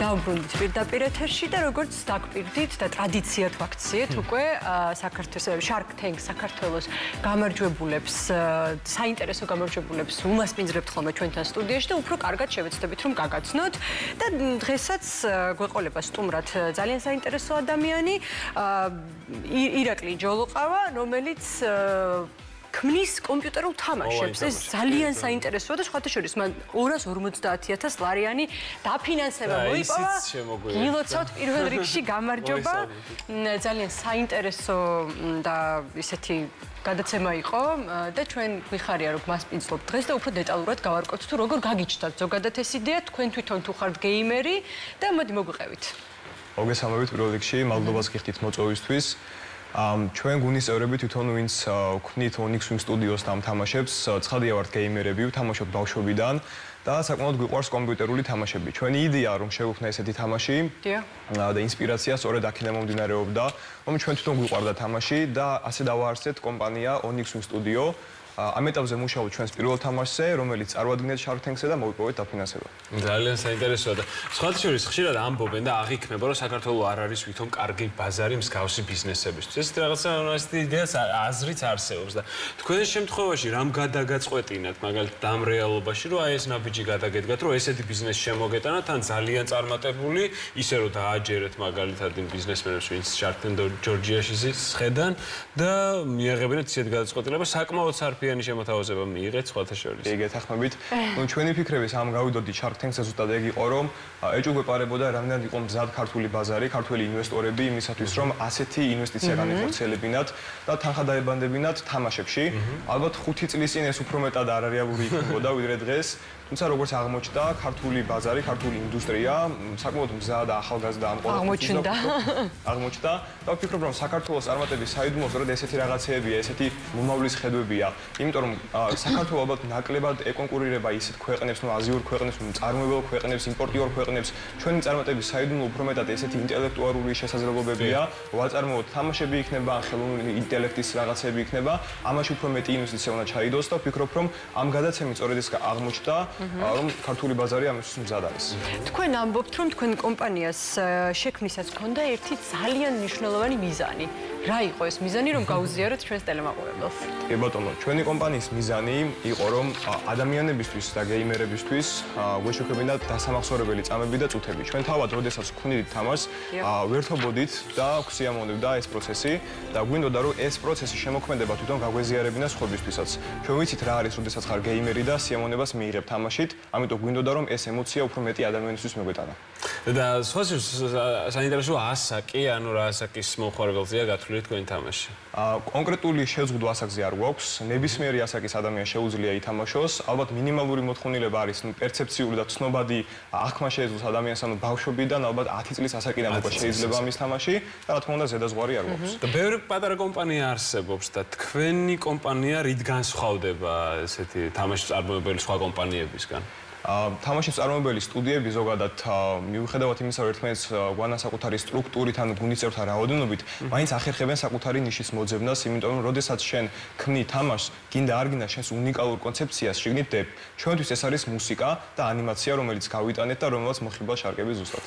დავბრუნდით პირდაპირ ეთერში და როგორც დაგპირდით და ტრადიციად ვაქციეთ უკვე საქართველოს Shark Tank საქართველოს გამარჯვებულებს საინტერესო გამარჯვებულებს უმასპინძლებთ ხოლმე ჩვენთან სტუდიაში და უფრო კარგად შევეცდებით რომ გაგაცნოთ და დღესაც გვეყოლება სტუმრად ძალიან საინტერესო ადამიანი ირაკლი ჯოლოყავა რომელიც ქმნის კომპიუტერულ თამაშებს. ეს ძალიან საინტერესოა და სხვათა შორის მან 250,000 ლარიანი დაფინანსება მოიპოვა. გილოცავთ პირველ რიგში გამარჯობა. ძალიან საინტერესო და ისეთი გადაცემა იყო და ჩვენ გვიხარია რომ მასპინძლობთ დღეს და უფრო დეტალურად გავარკვევთ თუ როგორ გაგიჩნდათ ზოგადად ეს იდეა თქვენ თვითონ თუ ხართ გეიმერი და მოდი მოგვიყევით. მოგესალმებით პირველ რიგში, მადლობას გიხდით მოწვევისთვის. ჩვენ გუნის წევრები თვითონ ვინც ვქნით Onyx Wing Studios-ს ამ თამაშებს, ცხადია ვართ გეიმერები, ვთამაშობთ ბავშვობიდან და საკმაოდ გვიყვარს კომპიუტერული თამაშები. ჩვენი იდეა რომ შევუქმნა ესეთი თამაში და ინსპირაცია სწორედ აქედან მომდინარეობდა, რომ ჩვენ თვითონ გვიყვარდა თამაში და ასე დავაარსეთ კომპანია Onyx Wing Studio. ამ ეტაპზე მუშაობთ ჩვენს პირველ თამაშზე, რომელიც წარუადგინეთ Shark Tank-ზე და მოვიპოვეთ დაფინანსება. ძალიან საინტერესოა და სხვათა შორის ხშირად ამბობენ და აღიქმება, რომ საქართველოს არ არის ვითომ კარგი ბაზარი მსგავსი ბიზნესებისთვის. ეს რაღაცა ასეთი იდეა აზრიც არსებობს და თქვენ შემთხვევაში რამ გადაგაწყვეტინათ, მაგალითად ამ რეალობაში, რომ აი ეს ნაბიჯი გადაგედგათ, რომ ესეთი ბიზნესი შემოგეტანათ, ან ძალიან წარმატებული, ისე რომ დააჯერეთ მაგალითად იმ ბიზნესმენებს, ვინც Shark Tank ჯორჯიაში შეხედან და მიაღებინეთ ისეთ გადაწყვეტილებას, საკმაოდ სარფიანი შემოთავაზება მიიღეთ სხვათა შორის. კი, გეთანხმებით. ჩვენი ფიქრები სამ გავიდოდი Shark Tank-ზე ზუსტად ეგ იყო, რომ ეჭვგვეპარებოდა რამდენად იყო მზად ქართული ბაზარი, ქართული ინვესტორები იმისათვის, რომ ასეთი ინვესტიცია განეხორციელებინათ და თანხა დაებანდებინათ თამაშებში. ალბათ 5 წლის წინ ეს უფრო მეტად არარეალური იქნებოდა ვიდრე დღეს. თუმცა როგორც აღმოჩნდა, ქართული ბაზარი, ქართული ინდუსტრია საკმაოდ მზად და ახალგაზრდა ამ აღმოჩნდა და ვფიქრობ, რომ საქართველოს წარმატების საიდუმლო სწორედ ესეთი რაღაცეებია, ესეთი მომავლის ხედვებია. იმიტომ რომ საქართველოს ალბათ ნაკლებად ეკონკურირება ისეთ ქვეყნებს, ნუ აზიურ ქვეყნებს, მწარმოებელ ქვეყნებს, იმპორტიორ ქვეყნებს. ჩვენი წარმატების საიდუმლო უფრო მეტად ესეთი ინტელექტუალური შესაძლებლობებია, ვაწარმოოთ თამაშები იქნება, ხელოვნური ინტელექტის რაღაცები იქნება, ამაში უფრო მეტი ინვესტიცია უნდა ჩაიდოს და ვფიქრობ, რომ ამ გადაცემით სწორედ ეს აღმოჩნდა, რომ ქართული ბაზარი ამისთვის მზად არის. თქვენ ამბობთ, რომ თქვენ კომპანიას შექმნისას გქონდა ერთი ძალიან მნიშვნელოვანი მიზანი. რა იყო ეს მიზანი, რომ გაუზიაროთ ჩვენს ტელემაყურებელს? კი ბატონო, ჩვენი კომპანიის მიზანი იყო, რომ ადამიანებისთვის და გეიმერებისთვის გვეშუქებინათ დასამახსოვრებელი წამები და წუთები. ჩვენ თავად, როდესაც ვქნით თამაშს, ვერთობოდით და გვსიამოვნებდა ეს პროცესი და გვინდოდა, რომ ეს პროცესი შემოქმედება თვითონ გაგვეზიარებინა სხვებისთვისაც. ჩვენ ვიცით რა არის, როდესაც ხარ გეიმერი და სიამოვნებას მიიღებ თამაშით, ამიტომ გვინდოდა, რომ ეს ემოცია უფრო მეტი ადამიანისთვის მეგვეტანა. და სხვათა საინტერესო ასაკი, ანუ რა ასაკის მომხმარებელზეა გათვლილი თქვენი თამაში? კონკრეტული შეზღუდვა ასაკზე არ გვაქვს. ნებისმიერი ასაკის ადამიანს შეუძლია ითამაშოს. ალბათ მინიმალური მოთხოვნილება არის, პერცეფციული და ცნობადი აღქმა შეეძლოს ადამიანს, ანუ ბავშვობიდან ალბათ 10 წლის ასაკიდან უკვე შეიძლება ამის თამაში და რა თქმა უნდა ზედაზღვარი არ გვაქვს. და ბევრი პატარა კომპანია არსებობს და თქვენი კომპანია რით განსხვავდება ესეთი თამაშის წარმოებელი სხვა კომპანიებისგან? თამაშის წარმოებელი სტუდიები ზოგადად მიუხედავად იმისა, რომ ერთმანეთს გვანა საკუთარი სტრუქტურით ან გულის წევრთა რაოდენობით, მაინც ახერხებენ საკუთარი ნიშის მოძებნას, იმიტომ რომ როდესაც შენ ქმნი თამაშს, გინდა არ გინდა შენს უნიკალურ კონცეფციას შიგნით დებ. ჩვენთვის ეს არის მუსიკა და ანიმაცია, რომელიც გავიტანეთ და რომელსაც მოხიბლა შარკები ზუსტად.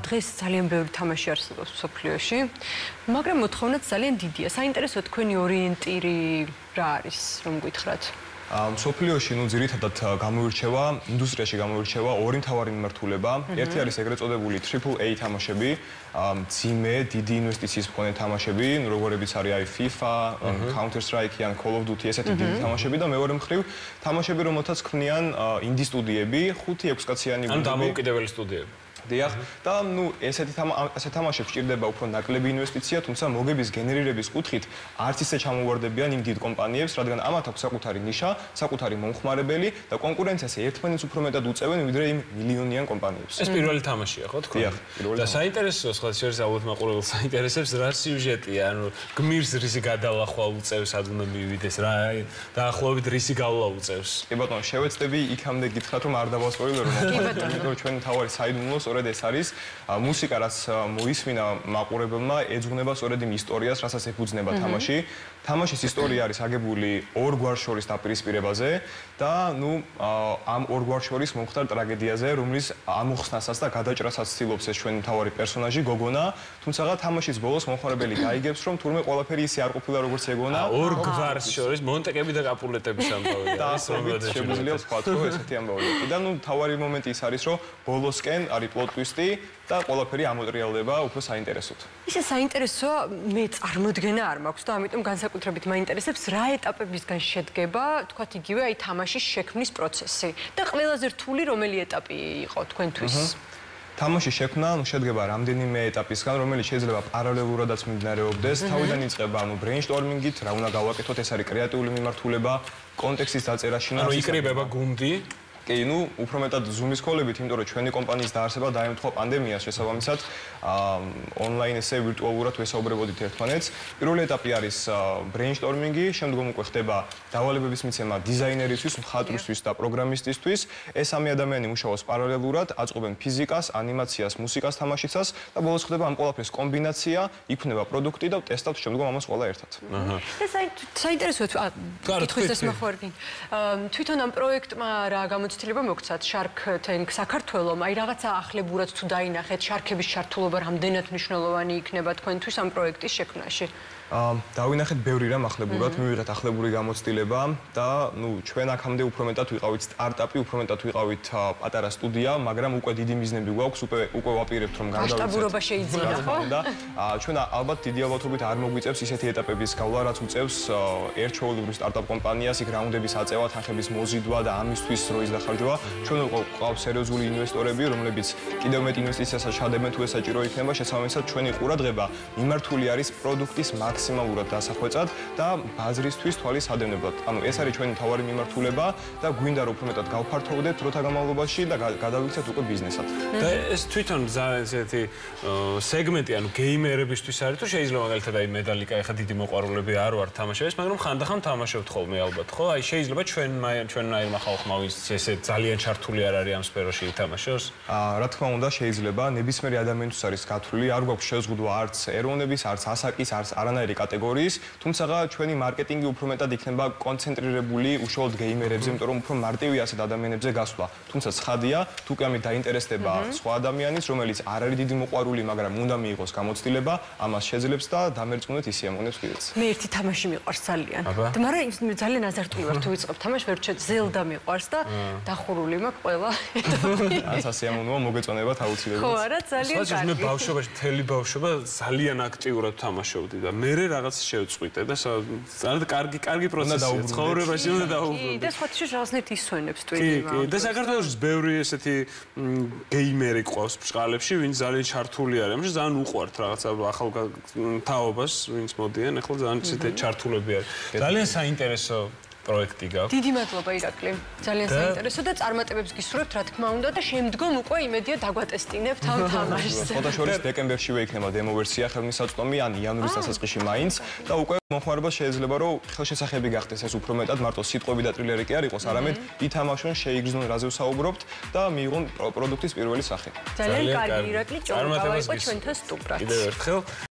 დღეს ძალიან ბევრი თამაში არსებობს მსოფლიოში, მაგრამ მოთხოვნაც ძალიან დიდია. საინტერესო თქვენი ორიენტირი რა არის, რომ გითხრათ? მსოფლიოში ძირითადად გამოირჩევა, ინდუსტრიაში გამოირჩევა ორი მთავარი მიმართულება. ერთი არის ეგრეთ წოდებული AAA თამაშები, მძიმე, დიდი ინვესტიციის მქონე თამაშები, როგორებიც არის FIFA, Counter Strike ან Call of Duty, ესეთი დიდი თამაშები და მეორე მხრივ თამაშები, რომელთაც ქმნიან ინდი სტუდიები, 5-6 კაციანი ანუ დამოუკიდებელი სტუდიები. დიახ, და ესეთი თამაშებს სჭირდება უფრო ნაკლები ინვესტიცია, თუმცა მოგების გენერირების კუთხით არც ისე ჩამოვარდებიან იმ დიდ კომპანიებს, რადგან ამათ აქვს საკუთარი ნიშა, საკუთარი მომხმარებელი და კონკურენციას ერთმანეთს უფრო მეტად უწევენ ვიდრე იმ მილიონიან კომპანიებს. ეს პირველი თამაშია, ხო თქვენ? დიახ, პირველი. და საინტერესოა, სხვა შორის ალბათ მაყურებელს საინტერესებს რა სიუჟეტია, ანუ გმირს რისი გადალახვა უწევს, სად უნდა მივიდეს, რა დაახლოებით რისი გავლა უწევს. კი ბატონო, შევეცდები იქამდე გითხრათ, რომ არ დავასპოილერო, იმიტომ რომ ჩვენ თავარი საიდუმლო სწორედ ეს არის მუსიკა, რაც მოისმინა მაყურებელმა, ეძღვნება სწორედ იმ ისტორიას, რასაც ეფუძნება თამაში. თამაშის ისტორია არის აგებული ორ გვარს შორის დაპირისპირებაზე და ამ ორ გვარს შორის მომხდარ ტრაგედიაზე, რომლის ამოხსნასაც და გადაჭრასაც ცდილობს ეს ჩვენი მთავარი პერსონაჟი გოგონა, თუმცა თამაშის ბოლოს მომხმარებელი გაიგებს, რომ თურმე ყველაფერი ისე არ ყოფილა როგორც ეგონა. ორ გვარს შორის მონტეკები და კაპულეტების ამბავია. და შეგვიძლია ვთქვა, რომ ესეთი ამბავია. და მთავარი მომენტი ის არის, რომ ბოლოსკენ არის პლოტ ტვისტი და ყველაფერი ამოტრიალდება უფრო საინტერესოდ. ისე საინტერესოა, მე წარმოდგენა არ მაქვს და ამიტომ განსაკუთრებით მაინტერესებს რა ეტაპებისგან შედგება, თქვათ იგივე აი თამაშის შექმნის პროცესი და ყველაზე რთული რომელი ეტაპი იყო თქვენთვის? თამაშის შექმნა შედგება რამდენიმე ეტაპისგან, რომელიც შეიძლება პარალელურადაც მიმდინარეობდეს. თავიდან იწყება ბრეინსტორმინგით, რა უნდა გავაკეთოთ, ეს არის კრეატიული მიმართულება, კონტექსტის დაწერა, შინაარსის. იკრიბება გუნდი. კი, უფრო მეტად Zoom-ის ქოლებით, იმიტომ რომ ჩვენი კომპანიის დაარსება დაემთხვა პანდემიას, შესაბამისად, ონლაინ ესე ვირტუალურად ვესაუბრებოდით ერთმანეთს. პირველი ეტაპი არის brainstorming-ი, შემდგომ უკვე ხდება დავალებების მიცემა დიზაინერისთვის, მხატვრისთვის და პროგრამისტისთვის. ეს სამი ადამიანი მუშაობს პარალელურად, აწყობენ ფიზიკას, ანიმაციას, მუსიკას, თამაშიცას და ბოლოს ხდება ამ ყველაფრის კომბინაცია, იქმნება პროდუქტი და ტესტავთ შემდგომ ამას ყველა ერთად. ეს საინტერესოა, კითხვის ეს მოხარგინ. თვითონ ამ პროექტმა რა გამოცდილება მოგცათ Shark Tank საქართველოს, აი რაღაცა ახლებურად თუ დაინახეთ, შარქების ჩართულობა რამდენად მნიშვნელოვანი იქნება თქვენთვის ამ პროექტის შექმნაში? დავინახეთ ბევრი რამ ახლებურად, მივიღეთ ახლებური გამოცდილება და ჩვენ აქამდე უფრო მეტად ვიყავით სტარტაპი, უფრო მეტად ვიყავით პატარა სტუდია, მაგრამ უკვე დიდი მიზნები გვაქვს, უკვე ვაპირებთ რომ გადავიცეთ. მასშტაბურობა შეიძლება, ხო? და ჩვენ ალბათ დიდი ალბათობით არ მოგვიწევს ისეთი ეტაპების გავლა, რაც უწევს ერთჩვეულებრივ სტარტაპ კომპანიას, იქ რაუნდების აწევა, თანხების მოზიდვა და ამისთვის დროის დახარჯვა. ჩვენ გვყავს სერიოზული ინვესტორები, რომლებიც კიდევ მეტ ინვესტიციასაც ჩადებენ თუ ეს საჭირო იქნება, შესაბამისად ჩვენი ყურადღება მიმართული არის პროდუქტის მაქსიმალურად დასახვეწად და ბაზრისთვის თვალის ადევნებლად. ანუ ეს არის ჩვენი მთავარი მიმართულება და გვინდა რომ უფრო მეტად გავფართოვდეთ დროთა განმავლობაში და გადავიქცეთ უკვე ბიზნესად. და ეს თვითონ ესეთი სეგმენტი, ანუ გეიმერებისთვის არის, თუ შეიძლება მაგალითად აი მედალიკა ეხა დიდი მოყვარულები არ ვარ თამაშების, მაგრამ ხანდახან თამაშობთ ხოლმე ალბათ, ხო? აი შეიძლება ჩვენნაირმა ხალხმა ვის ესე ძალიან ჩართული არ არის ამ სფეროში ითამაშოს? რა თქმა უნდა, შეიძლება ნებისმიერი ადამიანთვის არის გათვლილი, არ გვაქვს შეზღუდვა არც ეროვნების, არც ასაკის, არც არანაირი კატეგორიის, თუმცა ჩვენი მარკეტინგი უფრო მეტად იქნება კონცენტრირებული უშუალოდ გეიმერებზე, იმიტომ რომ უფრო მარტივი ასეთ ადამიანებზე გასვლა. თუმცა ცხადია, თუ კი ამით დაინტერესდება სხვა ადამიანის, რომელიც არ არის დიდი მოყვარული, მაგრამ უნდა მიიღოს გამოცდილება, ამას შეძლებს და დამერწმუნეთ ისე ამონებს კიდეც. მე ერთი თამაში მიყვარს ძალიან. მაგრამ ძალიან აზარტული ვარ თუ ვიწყებ თამაშს, ვერ ვჩვენე Zelda მიყვარს და დახურული მაქვს ყველა. ანც ასე ამონოა მოგეწონებათ აუცილებლად. ხო, არა, ძალიან კარგი. მე ბავშვობაში, მთელი ბავშვობა ძალიან აქტიურად თამაშობდი და მე რაღაც შევწყვიტე და ძალიან კარგი პროცესია. ცხოვრებაში უნდა დაუბრუნდე. და სხვა თიშ რაღაცნაირად ისვენებს ტვინი. კი, და საქართველოს ბევრი ესეთი გეიმერი ყავს ბჭყალებში, ვინც ძალიან ჩართული არის. ამაში ძალიან უყვართ რაღაცა ახალ თაობას, ვინც მოდიან, ახლა ძალიან ესეთი ჩართულები არის. ძალიან საინტერესო პროექტი გაქვს. დიდი მადლობა ირაკლი. ძალიან საინტერესო და წარმატებებს გისურვებთ, რა თქმა უნდა და შემდგომ უკვე იმედია დაგვატესტინებთ ამ თამაშს. ფოტოშოპის დეკემბერშივე იქნება დემო ვერსია ხელმისაწვდომი ან იანვრის დასაწყისში მაინც და უკვე მომხმარებელს შეიძლება რომ ხელშესახები გახდეს ეს უფრო მეტად მარტო სიტყვები და ტრილერი კი არ იყოს, არამედ ითამაშონ, შეიგრძნონ რაზე ვსაუბრობთ და მიიღონ პროდუქტის პირველი სახე. ძალიან კარგი ირაკლი, ჭორბა იყო ჩვენთან სტუმრად. კიდევ ერთხელ